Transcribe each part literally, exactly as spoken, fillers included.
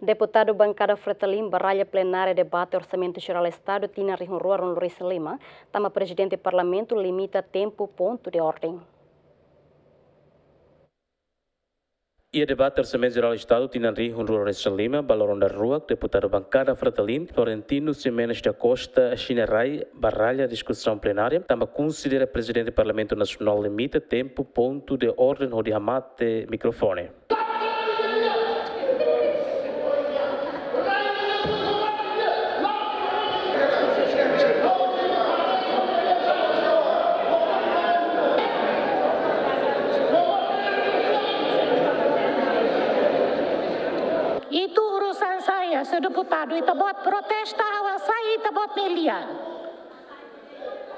Deputadu bankada Fretilin baralla plenária debate Orsamentu Jerál Estadu tinan rihun rua ruanulu-resin-lima, tanba Prezidente Parlamentu limita tempu pontu de orden. Iha debate Orsamentu Jerál Estadu tinan rihun rua ruanulu-resin-lima, ba loron daruak, deputadu bankada Fretilin, Florentino Ximenes da Costa Xinarai, baralla diskusaun plenária, tanba konsidera Prezidente Parlamentu Nasionál limita tempu pontu de orden hodi hamate mikrofone. Itu urusan saya, señór deputadu, ita-boot protesta ha'u hasai ita-boot nia lian.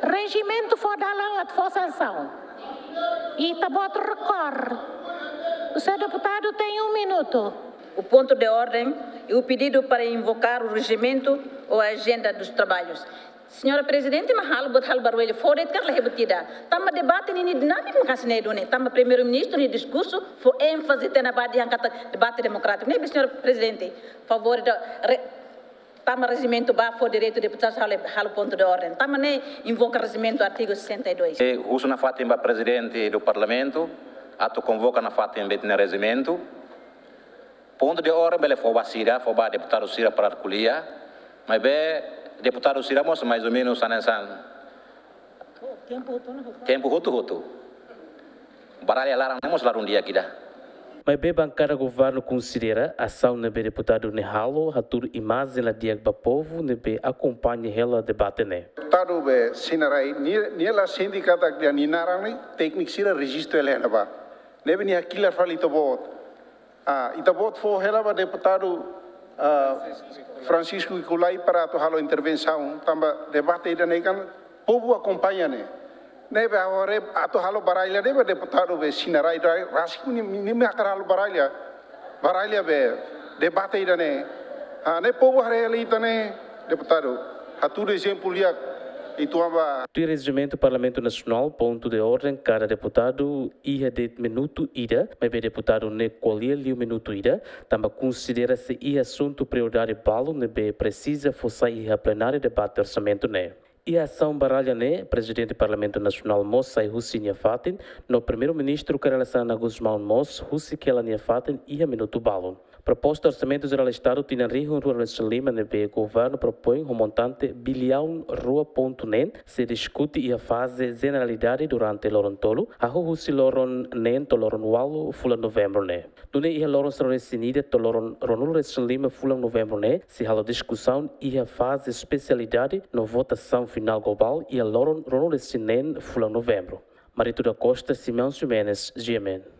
Rejimentu fó dalan atu fó sansaun. Ita-boot rekor. O senhor deputado tem um minuto. O ponto de ordem e o pedido para invocar o regimento ou a agenda dos trabalhos. Señora Prezidente, mak halo buat halo barullu fora, ita la halo buat ida. Tanba debate ne'e dinámiku, maka'as ne'e duni. Tanba Primeiru-Ministru nia diskursu fó énfaze tiha ona ba dehan katak debate demokrátiku. Ne'ebé, señora Prezidente, favór ida re-, tanba rejimentu ba fó direitu deputadu halo, halo pontu de orden. Tanba ne'e invoka rejimentu artigu sessenta e dois. E husu nafatin ba Prezidente do Parlamentu atu konvoka nafatin ba ita-nia rejimentu. Pontu de orden bele fó ba sira, fó ba deputadu sira para ko'alia. Maibé deputadu sira mós mais ou menos hanesan tempu hotu-hotu. Baralla laran ne'e mós la dún di'ak ida. Maibé bankada governu konsidera asaun ne'ebé deputadu ne'e halo hatudu imajen la di'ak ba povu ne'ebé akompaña hela debate ne'e. Deputadu be Xinarai, nia, nia la sente katak nia naran ne'e tékniku sira rejistu hela iha ne'ebá. Ne'ebé nia hakilar fali ita-boot. Ah, ita-boot fó hela ba deputadu, ah, Francisco Ikulai para atu halo intervensaun, tanba debate ida-ne'e kan povu akompaña ne'e. Ne'ebé agora atu halo baralla ne'ebé deputadu be Xinarai rai rasik nia, nia, nia hakarak halo baralla. Baralla be debate ida-ne'e. Ah, ne'e povu haree hela ita-nia deputadu. Hatudu ezemplu di'ak uitoan ba. Tuir rejimentu Parlamentu Nasionál, pontu de orden kada deputadu iha de'it minutu ida, maibé deputadu ne'e ko'alia liu minutu ida, tanba konsidera sei iha asuntu prioridade balu ne'ebé presiza fó sai iha plenária debate orsamentu ne'e. Iha asaun baralla ne'e, Prezidente Parlamentu Nasionál mós sai husi nia fatin, no Primeiru-Ministru Kay Rala Xanana Gusmão mós husik hela nia fatin iha minutu balu. Proposta Orsamentu Jerál Estadu tinan rihun rua ruanulu-resin-lima ne'ebé governu propoin ho montante biliaun rua pontu neen sei diskute iha faze jeneralidade durante loron tolu, hahú husi loron neen to'o loron ualu fulan Novembru ne'e. Nune'e iha loron sanulu-resin-ida to'o loron ruanulu-resin-lima fulan Novembru ne'e sei halo diskusaun iha faze espesialidade no votasaun finál globál iha loron ruanulu-resin-neen fulan Novembru. Marito da Costa, Simão Ximenes, G M N.